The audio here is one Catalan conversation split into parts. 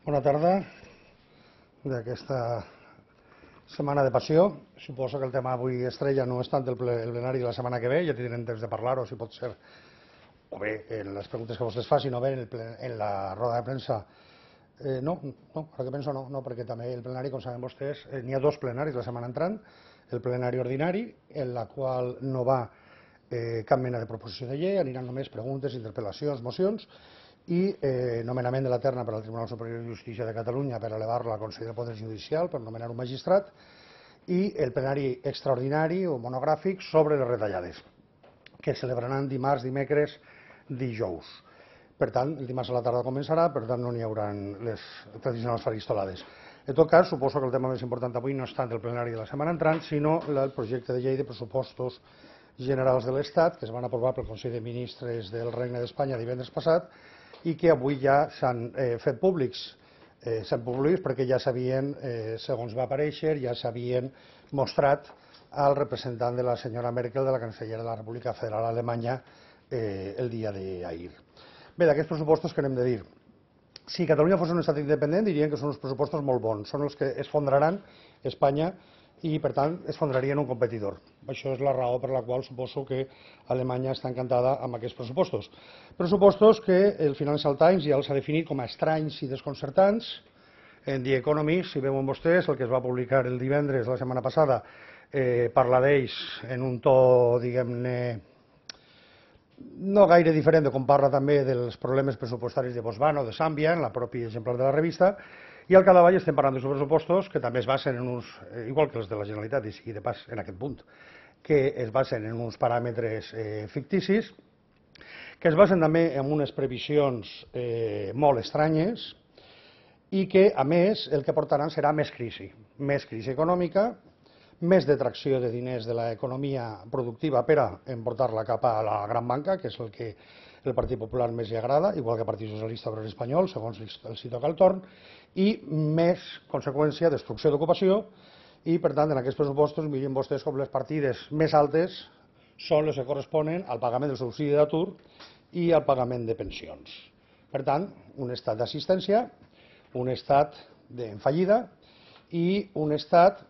Bona tarda d'aquesta setmana de passió. Suposo que el tema avui estrella no és tant el plenari de la setmana que ve, ja tindrem temps de parlar-ho, si pot ser, o bé en les preguntes que vostès facin, o bé en la roda de premsa. No, ara que penso no, perquè també el plenari, com saben vostès, n'hi ha dos plenaris la setmana entrant, el plenari ordinari, en la qual no va cap mena de proposició de llei, aniran només preguntes, interpel·lacions, mocions, i nomenament de la terna per al Tribunal Superior de Justícia de Catalunya per elevar-la al Consell del Poder Judicial per nomenar un magistrat, i el plenari extraordinari o monogràfic sobre les retallades, que es celebraran dimarts, dimecres, dijous. Per tant, el dimarts a la tarda començarà, per tant no n'hi haurà les tradicionals faristolades. En tot cas, suposo que el tema més important avui no és tant el plenari de la setmana entrant, sinó el projecte de llei de pressupostos generals de l'Estat, que es van aprovar pel Consell de Ministres del Regne d'Espanya divendres passat, i que avui ja s'han fet públics. S'han públics perquè ja s'havien, segons va aparèixer, ja s'havien mostrat al representant de la senyora Merkel, de la cancellera de la República Federal Alemanya, el dia d'ahir. Bé, d'aquests pressupostos què n'hem de dir? Si Catalunya fos un estat independent, dirien que són uns pressupostos molt bons, són els que esfondraran Espanya i, per tant, esfondrarien un competidor. Això és la raó per la qual suposo que Alemanya està encantada amb aquests pressupostos. Pressupostos que el Financial Times ja els ha definit com a estranys i desconcertants. En The Economist, si veuen vostès, el que es va publicar el divendres, la setmana passada, parla d'ells en un to, diguem-ne, no gaire diferent de com parla també dels problemes pressupostaris de Botswana o de Zàmbia, en la pròpia exemplar de la revista, i al capdavall estem parlant de pressupostos que també es basen en uns, igual que els de la Generalitat, i sigui de pas en aquest punt, que es basen en uns paràmetres ficticis, que es basen també en unes previsions molt estranyes i que, a més, el que portaran serà més crisi econòmica, més detracció de diners de l'economia productiva per a emportar-la cap a la gran banca, que és el que el Partit Popular més li agrada, igual que el Partit Socialista Obrer Espanyol, segons els hi toca el torn, i més conseqüència, destrucció d'ocupació, i per tant en aquests pressupostos mirin vostès com les partides més altes són les que corresponen al pagament del subsidi d'atur i al pagament de pensions. Per tant, un estat d'assistència, un estat en fallida i un estat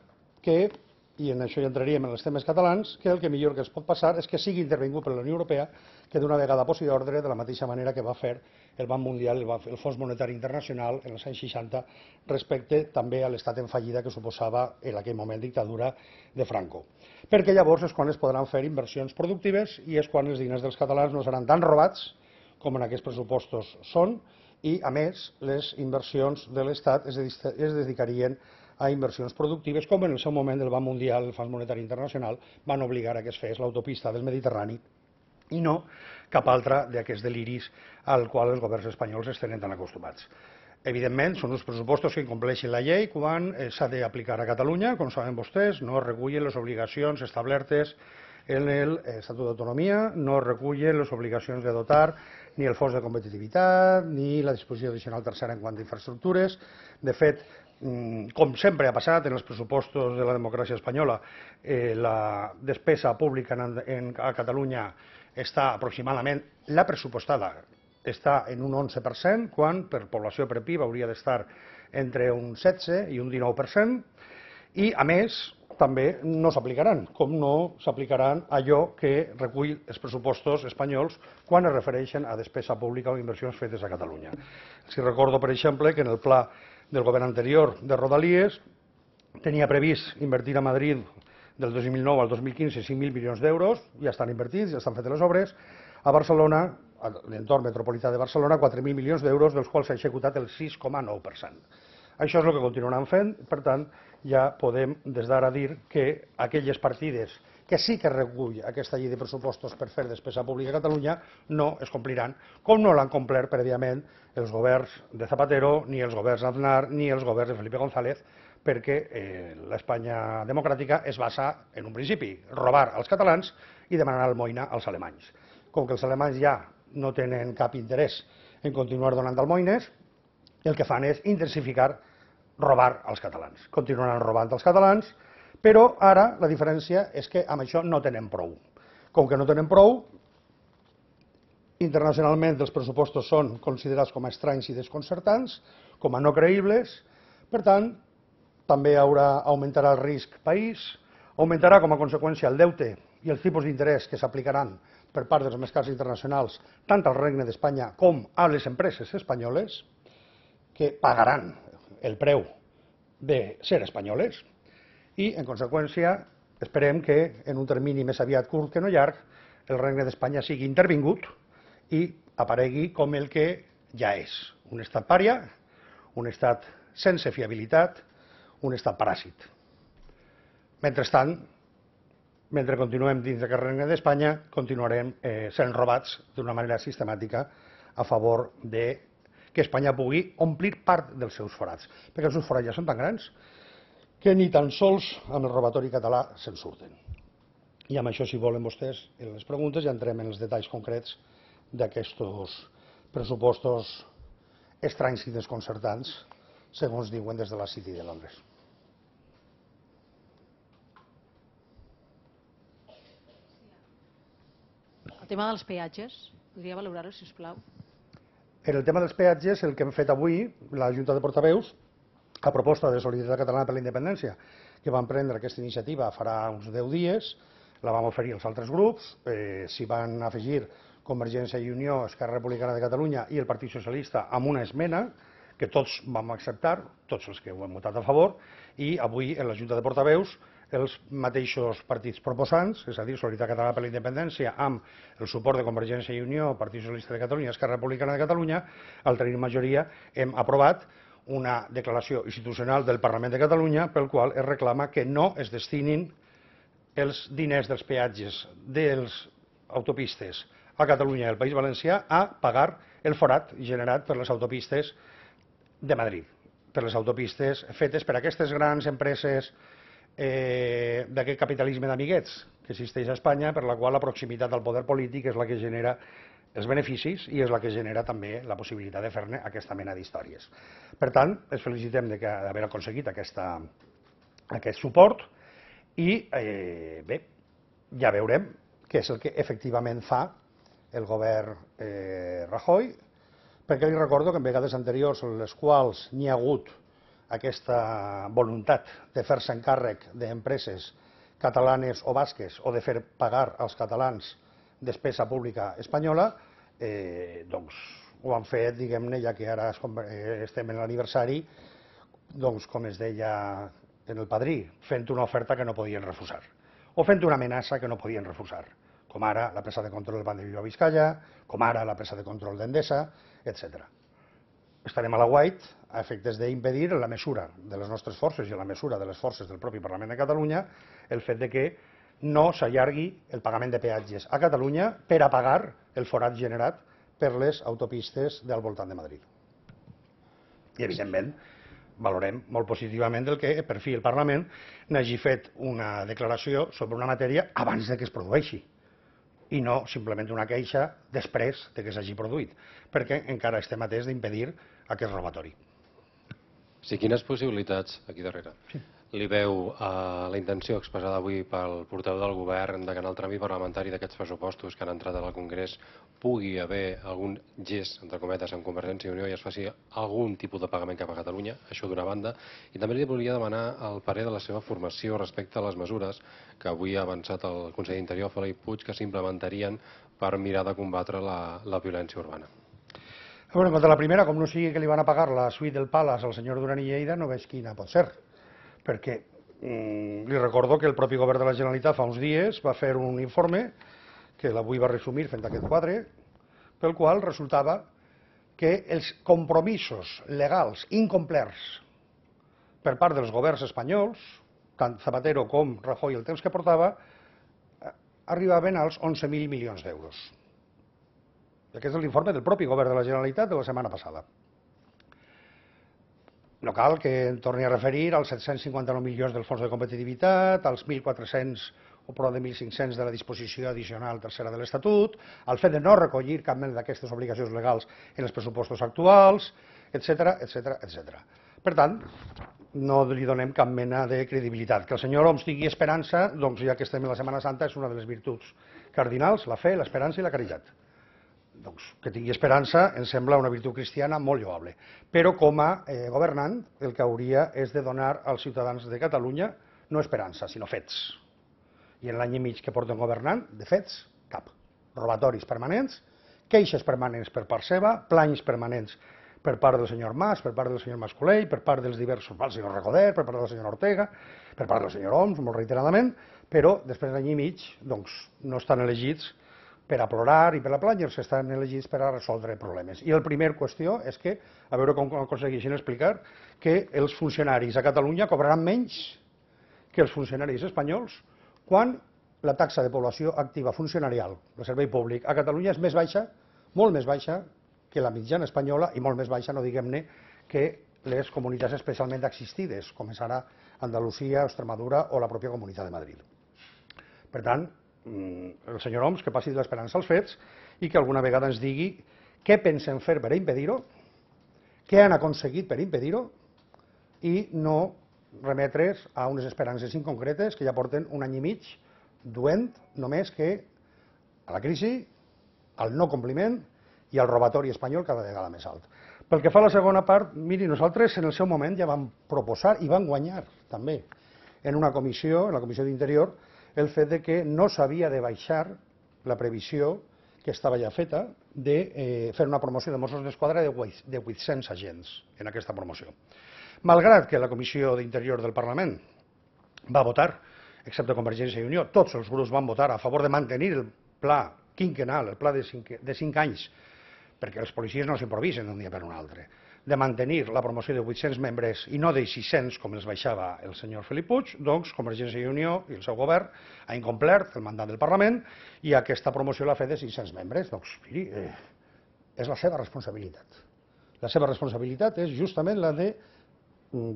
que, i en això ja entraríem en els temes catalans, que el que millor que es pot passar és que sigui intervingut per la Unió Europea, que d'una vegada posi ordre de la mateixa manera que va fer el Banc Mundial, el Fons Monetari Internacional en els anys 60, respecte també a l'estat en fallida que suposava en aquell moment dictadura de Franco. Perquè llavors és quan es podran fer inversions productives i és quan els diners dels catalans no seran tan robats com en aquests pressupostos són, i a més les inversions de l'Estat es dedicarien a inversions productives, com en el seu moment el Banc Mundial, el Fons Monetari Internacional, van obligar a que es fes l'autopista del Mediterrani i no cap altre d'aquests deliris al qual els governs espanyols es tenen tan acostumats. Evidentment, són uns pressupostos que incompleixen la llei quan s'ha d'aplicar a Catalunya, com saben vostès, no recullen les obligacions establertes en l'Estatut d'Autonomia, no recullen les obligacions de dotar ni el fons de competitivitat ni la disposició addicional tercera en quant a infraestructures. De fet, com sempre ha passat en els pressupostos de la democràcia espanyola, la despesa pública a Catalunya està aproximadament, la pressupostada, està en un 11%, quan per població per PIB hauria d'estar entre un 16 i un 19%, i a més també no s'aplicaran, com no s'aplicaran allò que recull els pressupostos espanyols quan es refereixen a despesa pública o inversions fetes a Catalunya. Si recordo, per exemple, que en el pla del govern anterior de Rodalies tenia previst invertir a Madrid del 2009 al 2015 5.000 milions d'euros, ja estan invertits, ja estan fetes les obres. A Barcelona, a l'entorn metropolità de Barcelona, 4.000 milions d'euros, dels quals s'ha executat el 6,9%. Això és el que continuaran fent, per tant, ja podem des d'ara dir que aquelles partides que sí que recull aquesta llei de pressupostos per fer despesa pública a Catalunya no es compliran, com no l'han complert prèviament els governs de Zapatero, ni els governs d'Aznar, ni els governs de Felipe González, perquè l'Espanya democràtica es basa, en un principi, robar als catalans i demanar almoina als alemanys. Com que els alemanys ja no tenen cap interès en continuar donant almoines, el que fan és intensificar robar als catalans. Continuaran robant als catalans, però ara la diferència és que amb això no tenen prou. Com que no tenen prou, Internacionalment els pressupostos són considerats com a estranys i desconcertants, com a no creïbles, per tant, també augmentarà el risc país, augmentarà com a conseqüència el deute i els tipus d'interès que s'aplicaran per part dels mercats internacionals tant al Regne d'Espanya com a les empreses espanyoles, que pagaran el preu de ser espanyoles i, en conseqüència, esperem que en un termini més aviat curt que no llarg el Regne d'Espanya sigui intervingut i aparegui com el que ja és, un estat pària, un estat sense fiabilitat, un estat paràsit. Mentrestant, mentre continuem dins d'aquest Regne d'Espanya, continuarem sent robats d'una manera sistemàtica a favor de que Espanya pugui omplir part dels seus forats, perquè els seus forats ja són tan grans que ni tan sols amb el robatori català se'n surten. I amb això, si volen vostès, en les preguntes ja entrem en els detalls concrets d'aquests pressupostos estranys i desconcertants, segons diuen des de la City de Londres. El tema dels peatges, podria valorar-ho, si us plau. En el tema dels peatges, el que hem fet avui, la Junta de Portaveus, a proposta de Solidaritat Catalana per la Independència, que van prendre aquesta iniciativa farà uns 10 dies, la vam oferir als altres grups, s'hi van afegir Convergència i Unió, Esquerra Republicana de Catalunya i el Partit Socialista amb una esmena que tots vam acceptar, tots els que ho hem votat a favor, i avui en la Junta de Portaveus els mateixos partits proposants, és a dir, Solidaritat Catalana per la Independència, amb el suport de Convergència i Unió, Partit Socialista de Catalunya i Esquerra Republicana de Catalunya, al tenir majoria hem aprovat una declaració institucional del Parlament de Catalunya pel qual es reclama que no es destinin els diners dels peatges de les autopistes a Catalunya i al País Valencià a pagar el forat generat per les autopistes de Madrid, per les autopistes fetes per aquestes grans empreses d'aquest capitalisme d'amiguets que existeix a Espanya, per la qual la proximitat al poder polític és la que genera els beneficis i és la que genera també la possibilitat de fer-ne aquesta mena d'històries. Per tant, ens felicitem d'haver aconseguit aquest suport i bé, ja veurem què és el que efectivament fa el govern Rajoy, perquè li recordo que en vegades anteriors en les quals n'hi ha hagut aquesta voluntat de fer-se encàrrec d'empreses catalanes o basques o de fer pagar als catalans despesa pública espanyola, doncs ho han fet, diguem-ne, ja que ara estem en l'aniversari, doncs com es deia en el Padrí, fent una oferta que no podien refusar, o fent una amenaça que no podien refusar, com ara la presa de control del Banc de Bilbao-Vizcaya, com ara la presa de control d'Endesa, etc. Estarem a l'aguait a efectes d'impedir, en la mesura de les nostres forces i en la mesura de les forces del propi Parlament de Catalunya, el fet de que no s'allargui el pagament de peatges a Catalunya per a pagar el forat generat per les autopistes del voltant de Madrid. I, evidentment, valorem molt positivament el que, per fi, el Parlament n'hagi fet una declaració sobre una matèria abans de que es produeixi i no simplement una queixa després de que s'hagi produït, perquè encara estem atents d'impedir aquest robatori. Sí, quines possibilitats, aquí darrere, li veu la intenció expressada avui pel portaveu del govern de que en el tràmit parlamentari d'aquests pressupostos que han entrat al Congrés pugui haver algun gest, entre cometes, amb Convergència i Unió i es faci algun tipus de pagament cap a Catalunya, això d'una banda, i també li volia demanar el parer de la seva formació respecte a les mesures que avui ha avançat el conseller d'Interior, Felip Puig, que s'implementarien per mirar de combatre la violència urbana. Bueno, en quant a la primera, com no sigui que li van a pagar la suite del Palace al senyor Duran i Lleida, no veig quina pot ser, perquè li recordo que el propi govern de la Generalitat fa uns dies va fer un informe que l'avui va resumir fent aquest quadre, pel qual resultava que els compromisos legals incomplerts per part dels governs espanyols, tant Zapatero com Rajoy el temps que portava, arribaven als 11.000 milions d'euros. Aquest és l'informe del propi govern de la Generalitat de la setmana passada. No cal que em torni a referir als 759 milions del fons de competitivitat, als 1.400 o prou de 1.500 de la disposició addicional tercera de l'Estatut, al fet de no recollir cap mena d'aquestes obligacions legals en els pressupostos actuals, etc. Per tant, no li donem cap mena de credibilitat. Que el senyor Homs tingui esperança, doncs ja que estem en la Setmana Santa, és una de les virtuts cardinals, la fe, l'esperança i la caritat. doncs, que tingui esperança em sembla una virtut cristiana molt lloable. Però com a governant el que hauria és de donar als ciutadans de Catalunya no esperança, sinó fets. I en l'any i mig que porten governant, de fets, cap. Robatoris permanents, queixes permanents per part seva, planys permanents per part del senyor Mas, per part del senyor Mas-Colell, per part dels diversos, el senyor Recoder, per part del senyor Ortega, per part del senyor Homs, molt reiteradament, però després d'any i mig doncs, no estan elegits per a plorar i per a plànyer-se, estan elegits per a resoldre problemes. I la primera qüestió és que, a veure com aconsegueixen explicar que els funcionaris a Catalunya cobraran menys que els funcionaris espanyols quan la taxa de població activa funcionarial del servei públic a Catalunya és més baixa, molt més baixa que la mitjana espanyola i molt més baixa, no diguem-ne, que les comunitats especialment assistides, com és ara Andalusia, Extremadura o la pròpia Comunitat de Madrid. Per tant, el senyor Homs que passi de l'esperança als fets i que alguna vegada ens digui què pensen fer per impedir-ho, què han aconseguit per impedir-ho i no remetre's a unes esperances inconcretes que ja porten un any i mig duent només que a la crisi, al no compliment i al robatori espanyol cada vegada més alt. Pel que fa a la segona part, miri, nosaltres en el seu moment ja vam proposar i vam guanyar també en una comissió, en la Comissió d'Interior, el fet de que no s'havia de baixar la previsió que estava ja feta de fer una promoció de Mossos d'Esquadra de 800 agents en aquesta promoció. Malgrat que la Comissió d'Interior del Parlament va votar, excepte Convergència i Unió, tots els grups van votar a favor de mantenir el pla quinquenal, el pla de 5 anys, perquè els policies no s'improvisen d'un dia per un altre, de mantenir la promoció de 800 membres i no de 600 com els baixava el senyor Felip Puig, doncs Convergència i Unió i el seu govern ha incomplert el mandat del Parlament i aquesta promoció l'ha fet de 600 membres. Doncs, miri, és la seva responsabilitat. La seva responsabilitat és justament la de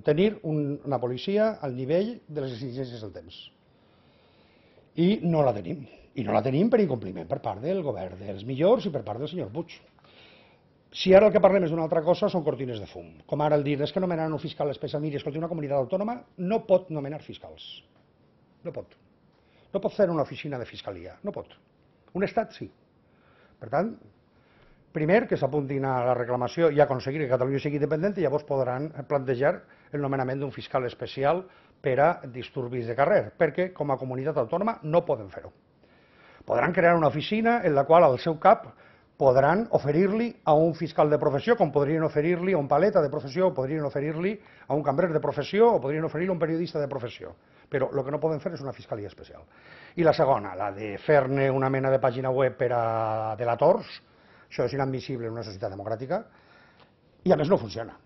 tenir una policia al nivell de les exigències del temps. I no la tenim. I no la tenim per incompliment per part del govern dels millors i per part del senyor Puig. Si ara el que parlem és d'una altra cosa, són cortines de fum. Com ara el dir, és que nomenaran un fiscal especial. Miri, escolti, una comunitat autònoma no pot nomenar fiscals. No pot. No pot fer una oficina de fiscalia. No pot. Un estat sí. Per tant, primer que s'apuntin a la reclamació i aconseguir que Catalunya sigui independent i llavors podran plantejar el nomenament d'un fiscal especial per a disturbis de carrer, perquè com a comunitat autònoma no poden fer-ho. Podran crear una oficina en la qual al seu cap podran oferir-li a un fiscal de professió, com podrien oferir-li a un paleta de professió, o podrien oferir-li a un cambrer de professió, o podrien oferir-li a un periodista de professió. Però el que no poden fer és una fiscalia especial. I la segona, la de fer-ne una mena de pàgina web per a delators, això és inadmissible en una societat democràtica, i a més no funciona.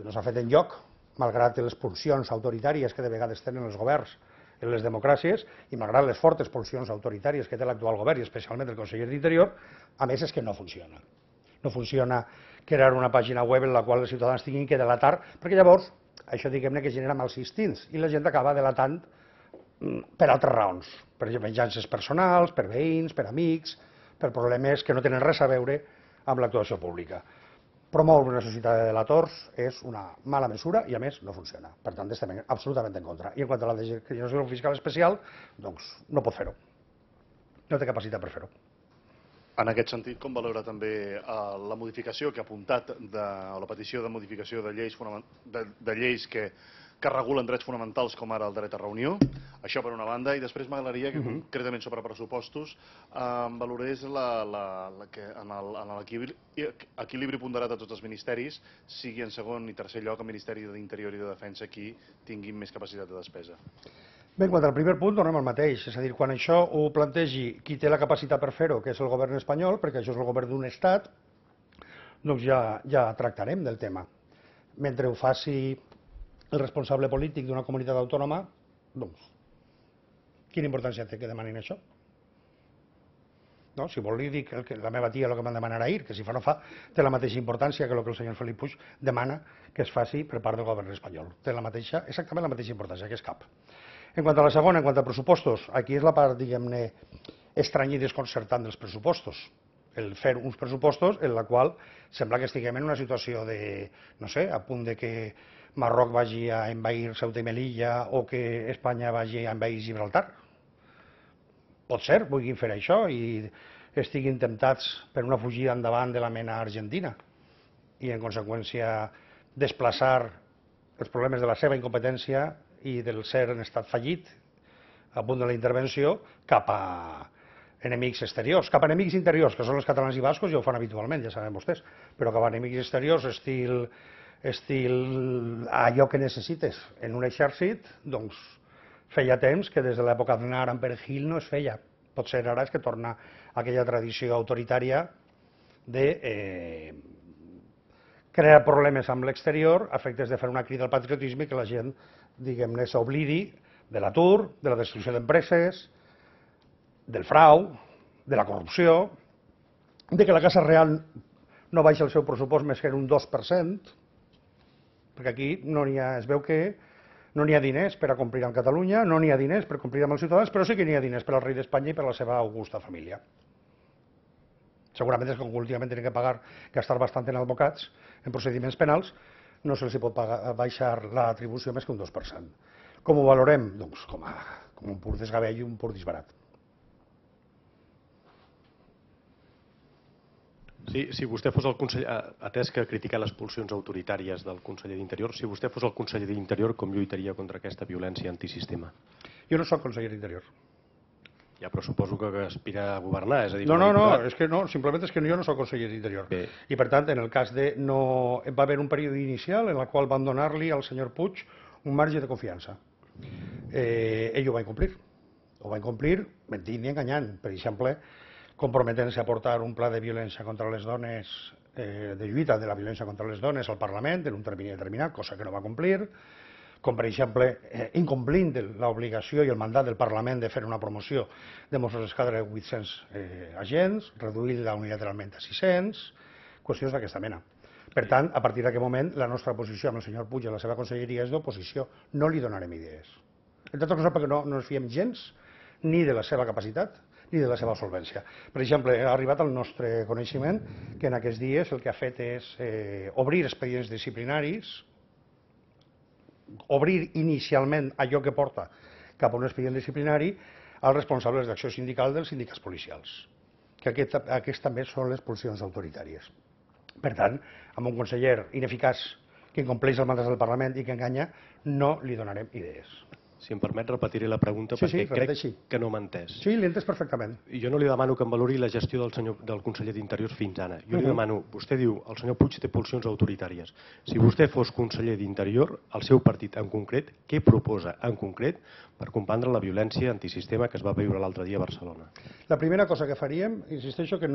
No s'ha fet enlloc, malgrat les pulsions autoritàries que de vegades tenen els governs en les democràcies i malgrat les fortes pulsions autoritàries que té l'actual govern i especialment el conseller d'Interior, a més és que no funciona. No funciona crear una pàgina web en la qual els ciutadans tinguin que delatar, perquè llavors això diguem-ne que genera mals instints i la gent acaba delatant per altres raons, per venjances personals, per veïns, per amics, per problemes que no tenen res a veure amb l'actuació pública. Promoure una societat de delators és una mala mesura i, a més, no funciona. Per tant, estem absolutament en contra. I en quant a la designació d'un fiscal especial, doncs no pot fer-ho. No té capacitat per fer-ho. En aquest sentit, com valora també la modificació que ha apuntat, o la petició de modificació de lleis que regulen drets fonamentals com ara el dret a reunió? Això per una banda, i després m'agradaria que concretament sobre pressupostos valorés que en l'equilibri ponderat de tots els ministeris sigui en segon i tercer lloc el Ministeri d'Interior i de Defensa qui tinguin més capacitat de despesa. Bé, en quant al primer punt, tornem al mateix. És a dir, quan això ho plantegi qui té la capacitat per fer-ho, que és el govern espanyol, perquè això és el govern d'un estat, doncs ja tractarem del tema. Mentre ho faci el responsable polític d'una comunitat autònoma, doncs, quina importància té que demanin això? No? Si vol li dic la meva tia el que m'han demanat ahir, que si fa no fa, té la mateixa importància que el que el senyor Felip Puig demana que es faci per part del govern espanyol. Té exactament la mateixa importància, que és cap. En quant a la segona, en quant a pressupostos, aquí és la part, diguem-ne, estranya i desconcertant dels pressupostos. El fer uns pressupostos en la qual sembla que estiguem en una situació de, no sé, a punt de que Marroc vagi a envair Ceuta i Melilla o que Espanya vagi a envair Gibraltar. Pot ser, vulguin fer això i estiguin temptats per una fugida endavant de la mena argentina i, en conseqüència, desplaçar els problemes de la seva incompetència i del ser en estat fallit a punt de la intervenció cap a enemics exteriors, cap a enemics interiors, que són els catalans i bascos, ja ho fan habitualment, ja saben vostès, però cap a enemics exteriors, estil allò que necessites en un exèrcit, doncs feia temps que des de l'època d'Aznar amb Perejil no es feia. Potser ara és que torna aquella tradició autoritària de crear problemes amb l'exterior a efectes de fer una crida al patriotisme i que la gent, diguem-ne, s'oblidi de l'atur, de la destrucció d'empreses, del frau, de la corrupció, de que la Casa Real no baixa el seu pressupost més que en un 2%, perquè aquí es veu que no n'hi ha diners per a complir amb Catalunya, no n'hi ha diners per complir amb els ciutadans, però sí que n'hi ha diners per al rei d'Espanya i per a la seva augusta família. Segurament és que últimament tenen que gastar bastant en advocats, en procediments penals, no se'ls pot baixar l'atribució més que un 2%. Com ho valorem? Doncs com un pur desgavell i un pur disbarat. Sí, si vostè fos el conseller, atès que ha criticat les pulsions autoritàries del conseller d'Interior, si vostè fos el conseller d'Interior, com lluitaria contra aquesta violència antisistema? Jo no soc conseller d'Interior. Ja, però suposo que aspira a governar, és a dir... No, és que no, simplement és que jo no soc conseller d'Interior. I per tant, en el cas de no... Va haver un període inicial en el qual van donar-li al senyor Puig un marge de confiança. Ell ho va incomplir. Ho va incomplir mentint i enganyant. Per exemple, comprometent-se a portar un pla de violència contra les dones, de lluita de la violència contra les dones al Parlament en un termini determinat, cosa que no va complir, com per exemple incomplint l'obligació i el mandat del Parlament de fer una promoció de Mossos d'Esquadra de 800 agents, reduir-la unilateralment a 600, qüestions d'aquesta mena. Per tant, a partir d'aquest moment, la nostra posició amb el senyor Puig i la seva conselleria és d'oposició. No li donarem idees. Entre altres coses perquè no ens fiem gens ni de la seva capacitat ni de la seva solvència. Per exemple, ha arribat al nostre coneixement que en aquests dies el que ha fet és obrir expedients disciplinaris, obrir inicialment allò que porta cap a un expedient disciplinari als responsables d'acció sindical dels sindicats policials, que aquests també són les pulsions autoritàries. Per tant, amb un conseller ineficaç que incompleix el mandat del Parlament i que enganya, no li donarem idees. Si em permet, repetiré la pregunta perquè crec que no m'ha entès. Sí, l'he entès perfectament. I jo no li demano que em valori la gestió del conseller d'Interior fins ara. Jo li demano, vostè diu, el senyor Puig té pulsions autoritàries. Si vostè fos conseller d'Interior, el seu partit en concret, què proposa en concret per combatre la violència antisistema que es va viure l'altre dia a Barcelona? La primera cosa que faríem, insisteixo que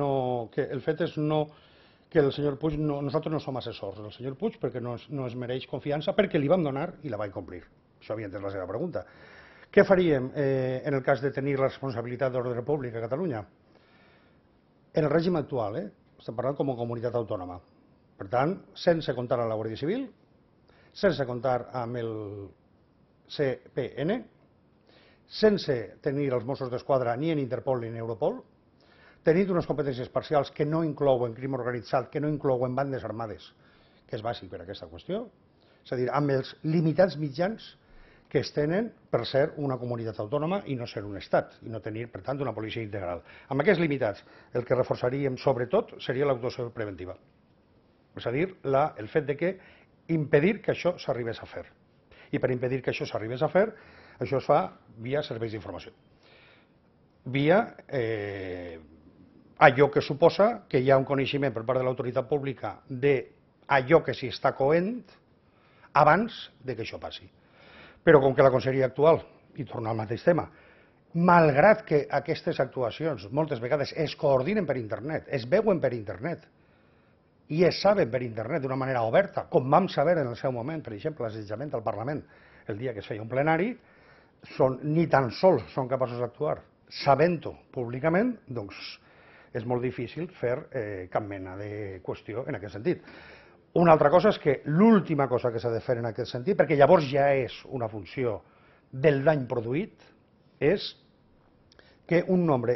el fet és que el senyor Puig, nosaltres no som assessors del senyor Puig perquè no es mereix confiança, perquè li vam donar i la va incomplir. Això havia entès la seva pregunta. Què faríem en el cas de tenir la responsabilitat d'ordre públic a Catalunya? En el règim actual, estem parlant com a comunitat autònoma. Per tant, sense comptar amb la Guàrdia Civil, sense comptar amb el CPN, sense tenir els Mossos d'Esquadra ni en Interpol ni en Europol, tenint unes competències parcials que no inclouen crim organitzat, que no inclouen bandes armades, que és bàsic per a aquesta qüestió, és a dir, amb els limitats mitjans que es tenen per ser una comunitat autònoma i no ser un estat, i no tenir, per tant, una policia integral. Amb aquests limitats, el que reforçaríem sobretot seria l'actuació preventiva. És a dir, el fet de que impedir que això s'arribés a fer. I per impedir que això s'arribés a fer, això es fa via serveis d'informació. Via allò que suposa que hi ha un coneixement per part de l'autoritat pública d'allò que s'hi està coent abans de que això passi. Però com que la conselleria actual, i torna al mateix tema, malgrat que aquestes actuacions moltes vegades es coordinen per internet, es veuen per internet i es saben per internet d'una manera oberta, com vam saber en el seu moment, per exemple, l'assetjament al Parlament el dia que es feia un plenari, ni tan sols són capaços d'actuar sabent-ho públicament, doncs és molt difícil fer cap mena de qüestió en aquest sentit. Una altra cosa és que l'última cosa que s'ha de fer en aquest sentit, perquè llavors ja és una funció del dany produït, és que un nombre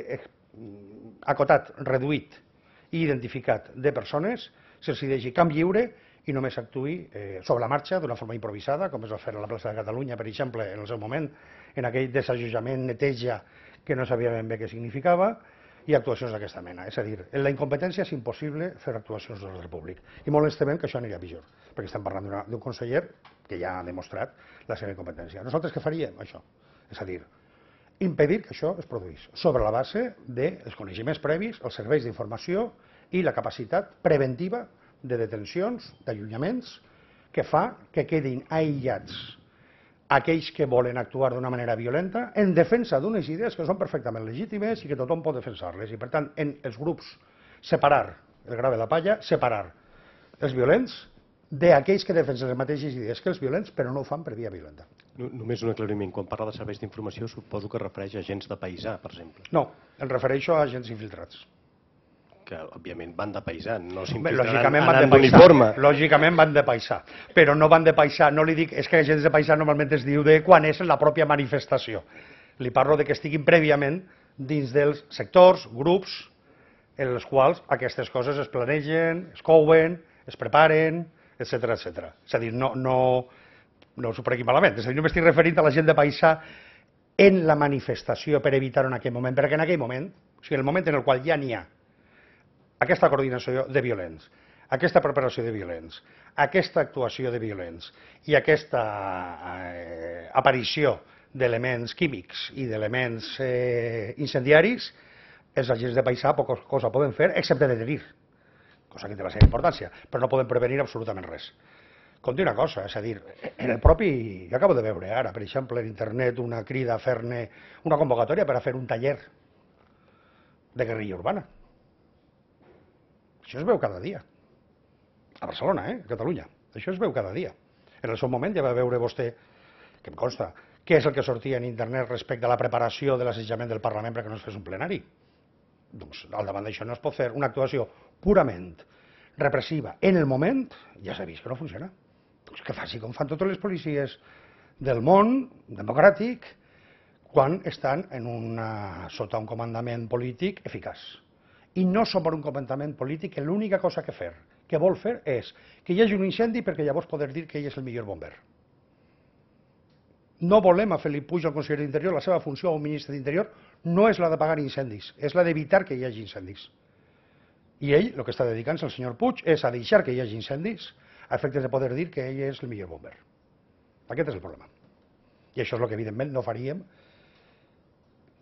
acotat, reduït i identificat de persones se'ls deixi camp lliure i només actuï sobre la marxa d'una forma improvisada, com es va fer a la plaça de Catalunya, per exemple, en el seu moment, en aquell desallotjament, neteja, que no sabia ben bé què significava, i actuacions d'aquesta mena. És a dir, en la incompetència és impossible fer actuacions d'ordre públic. I molt ens temem que això anirà pitjor, perquè estem parlant d'un conseller que ja ha demostrat la seva incompetència. Nosaltres què faríem? Això. És a dir, impedir que això es produís, sobre la base dels coneixements previs, els serveis d'informació i la capacitat preventiva de detencions, d'allunyaments, que fa que quedin aïllats aquells que volen actuar d'una manera violenta en defensa d'unes idees que són perfectament legítimes i que tothom pot defensar-les. I, per tant, en els grups, separar el gra de la palla, separar els violents d'aquells que defensen les mateixes idees que els violents, però no ho fan per via violenta. Només un aclariment. Quan parla de serveis d'informació, suposo que es refereix a agents de paisà, per exemple. No, em refereixo a agents infiltrats. Que, òbviament, van de paisà, no Lògicament s'infiltraran van de anant paisà, d'uniforme. lògicament van de paisà, però no van de paisà, no li dic, és que agents de paisà normalment es diu de quan és la pròpia manifestació. Li parlo de que estiguin prèviament dins dels sectors, grups, en els quals aquestes coses es planegen, es couen, es preparen, etc etc. És a dir, no s'ho prenguin malament, és a dir, no m'estic referint a la gent de paisà en la manifestació per evitar en aquell moment, perquè en aquell moment, o sigui, en el moment en el qual ja n'hi ha aquesta coordinació de violents, aquesta preparació de violents, aquesta actuació de violents i aquesta aparició d'elements químics i d'elements incendiaris, els agents de paisà poca cosa poden fer excepte detenir, cosa que té la seva importància, però no poden prevenir absolutament res. Com dir una cosa, és a dir, en el propi... Jo acabo de veure ara, per exemple, en internet una crida a fer-ne una convocatòria per a fer un taller de guerrilla urbana. Això es veu cada dia. A Barcelona, a Catalunya. Això es veu cada dia. En el seu moment ja va veure vostè, que em consta, què és el que sortia en internet respecte a la preparació de l'assetjament del Parlament perquè no es fes un plenari. Doncs al davant d'això no es pot fer una actuació purament repressiva en el moment, ja s'ha vist que no funciona. Doncs que faci com fan totes les policies del món democràtic quan estan sota un comandament polític eficaç. I no som per un comandament polític que l'única cosa que vol fer és que hi hagi un incendi perquè llavors poder dir que ell és el millor bomber. No volem a Felip Puig, el conseller d'Interior, la seva funció a un ministre d'Interior no és la d'apagar incendis, és la d'evitar que hi hagi incendis. I ell, el que està dedicant-se el senyor Puig, és a deixar que hi hagi incendis a efectes de poder dir que ell és el millor bomber. Aquest és el problema. I això és el que, evidentment, no faríem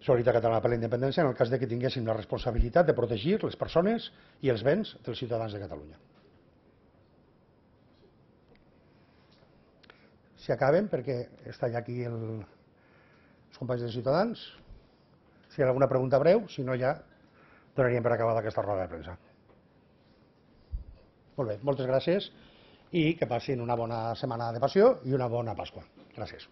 Solidaritat Catalana per la Independència en el cas de que tinguéssim la responsabilitat de protegir les persones i els béns dels ciutadans de Catalunya. Si acabem, perquè està ja aquí els companys de Ciutadans, si hi ha alguna pregunta breu, si no ja donaríem per acabada aquesta roda de premsa. Molt bé, moltes gràcies i que passin una bona setmana de passió i una bona Pasqua. Gràcies.